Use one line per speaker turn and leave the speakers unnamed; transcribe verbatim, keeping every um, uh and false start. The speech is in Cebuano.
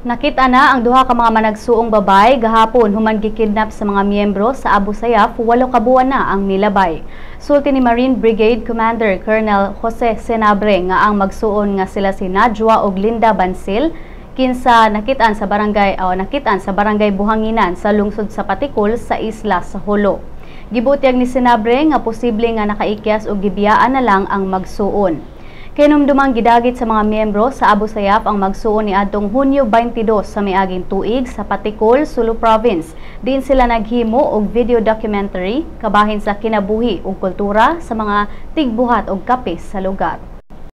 Nakita na ang duha ka mga managsuong babae gahapon human gikidnap sa mga miyembro sa Abu Sayyaf, walo ka buwan na ang milabay. Sulti ni Marine Brigade Commander Colonel Jose Senabre nga ang magsuon nga sila si Najwa ug Linda Bansil kinsa nakitaan sa barangay o nakitaan sa Barangay Buhanginan sa lungsod sa Patikul sa isla sa Jolo. Gibutyag ni Senabre nga posible nga nakaikyas og gibiyaan na lang ang magsuon. Kahinumdumang gidagit sa mga miyembro sa Abu Sayyaf ang magsuon ni adtong Hunyo twenty-two sa miaging tuig sa Patikul, Sulu Province. Diin sila naghimo og video documentary kabahin sa kinabuhi ug kultura sa mga tigbuhat og kape sa lugar.